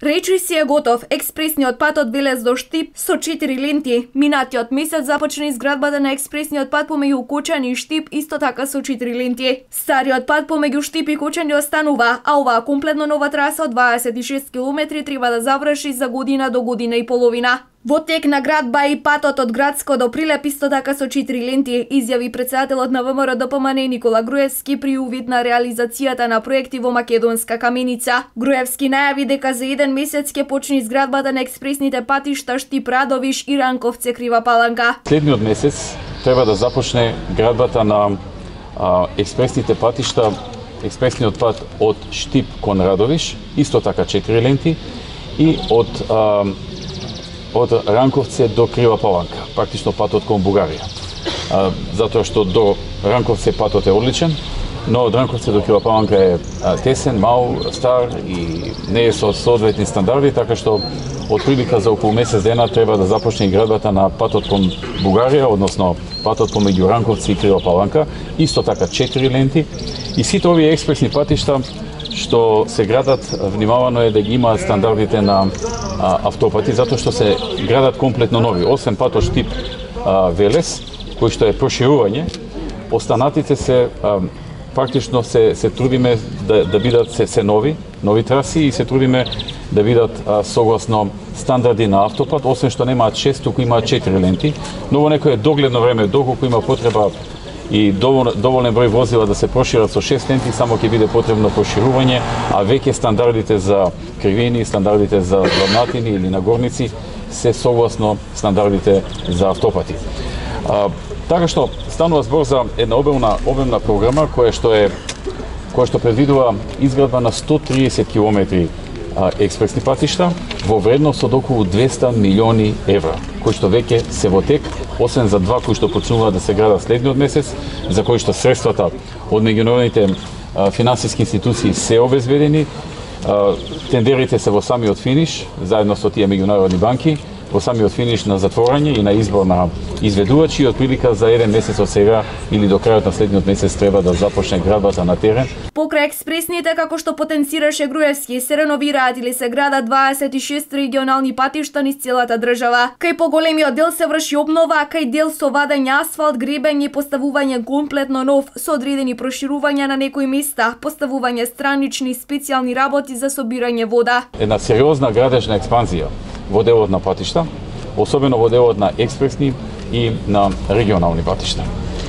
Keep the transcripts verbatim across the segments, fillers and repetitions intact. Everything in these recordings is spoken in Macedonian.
Речи си е готов експресниот пат од Велес до Штип со четири ленти. Минатиот месец започна изградбата на експресниот пат помеѓу Кочани и Штип, исто така со четири ленти. Стариот пат помеѓу Штип и Кочани останува, а оваа комплетно нова траса од дваесет и шест километри треба да заврши за година до година и половина. Во тек на градба и патот од Градско до Прилеп исто така со четири ленти, изјави претседателот на ВМРО Д П М Н Никола Груевски при увид на реализацијата на проекти во Македонска каменица. Груевски најави дека за еден месец ќе почне изградбата на експресните патишта Штип Радовиш и Ранковце Крива Паланка. Следниот месец треба да започне градбата на а, експресните патишта, експресниот пат од Штип кон Радовиш, исто така четири ленти, и од а, од Ранковце до Крива Паланка, практично патот кон Бугарија. А, затоа што до Ранковце патот е одличен, но од Ранковце до Крива Паланка е а, тесен, мал, стар и не е со соодветни стандарди, така што од прилика за околу месец дена треба да започне градбата на патот кон Бугарија, односно патот помеѓу Ранковце и Крива Паланка, исто така четири ленти, и сите овие експресни патишта што се градат, внимавано е да ги имаат стандардите на а, автопати, затоа што се градат комплетно нови. Освен патот Штип а, Велес, кој што е проширување, останатите се а, практично се, се трудиме да, да бидат се, се нови, нови траси, и се трудиме да бидат а, согласно стандарди на автопат, освен што немаат шест, туку имаат четири ленти, но во некое догледно време, доколку има потреба и довол, доволен број возила да се прошират со шест ленти, само ќе биде потребно проширување, а веќе стандардите за кривини, стандардите за длабнатини или нагорници се согласно стандардите за автопати. А, така што станува збор за една обемна обемна програма која што е која што предвидува изградба на сто триесет километри а, експресни патишта во вредност од околу двесте милиони евра, кои што веќе се во тек, освен за два кои што почнуваат да се градат следниот месец, за кои што средствата од меѓународните финансиски институции се обезбедени. А, тендерите се во самиот финиш, заедно со тие меѓународни банки, во самиот финиш на затворање и на избор на изведувачи, и од прилика за еден месец од сега или до крајот на следниот месец треба да започне градбата на терен. Покрај експресните, како што потенцираше Груевски, се реновираат или се градат дваесет и шест регионални патишта низ целата држава. Кај поголемиот дел се врши обнова, а кај дел со вадење асфалт, гребење и поставување комплетно нов, со одредени проширувања на некои места, поставување странични специјални работи за собирање вода. Една сериозна градежна експанзија во делот на патишта, особено во делот на експресни и на регионални патишта.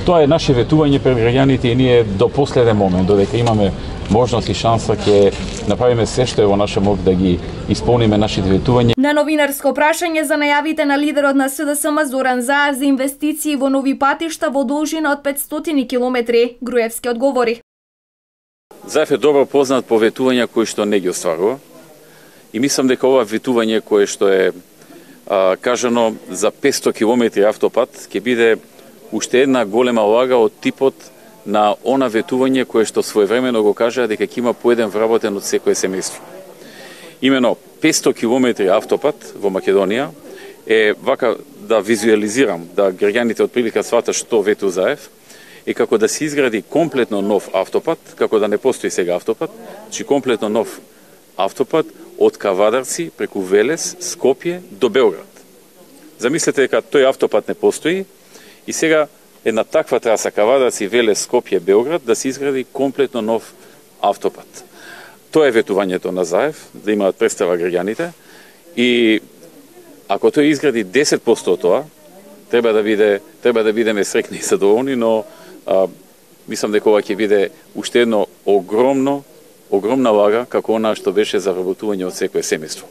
Тоа е наше ветување пред граѓаните и ние до последен момент, додека имаме можност и шанса, ќе направиме се што е во наша мок да ги исполниме нашите ветувања. На новинарско прашање за најавите на лидерот на С Д С М Зоран Заев за инвестиции во нови патишта во должина од петстотини километри, Груевски одговори. Заев е добро познат по ветувања кои што не ги остварува. И мислам дека ова ветување кое што е а, кажано за петсто километри автопат ќе биде уште една голема улага од типот на она ветување кое што своевремено го кажа дека ќе има по еден вработен од секое семејство. Имено петсто километри автопат во Македонија е, вака да визуализирам, да граѓаните од прилика сватат што вету Заев, е како да се изгради комплетно нов автопат, како да не постои сега автопат, чи комплетно нов автопат од Кавадарци преку Велес, Скопје до Белград. Замислете дека тој автопат не постои и сега една таква траса Кавадарци, Велес, Скопје, Белград да се изгради комплетно нов автопат. Тоа е ветувањето на Заев, да имаат представа граѓаните, и ако тој изгради десет проценти од тоа, треба да биде треба да бидеме среќни и задоволни, но а, мислам дека ова ќе биде уште едно огромно огромна лага како она што беше за вработување од секое семејство.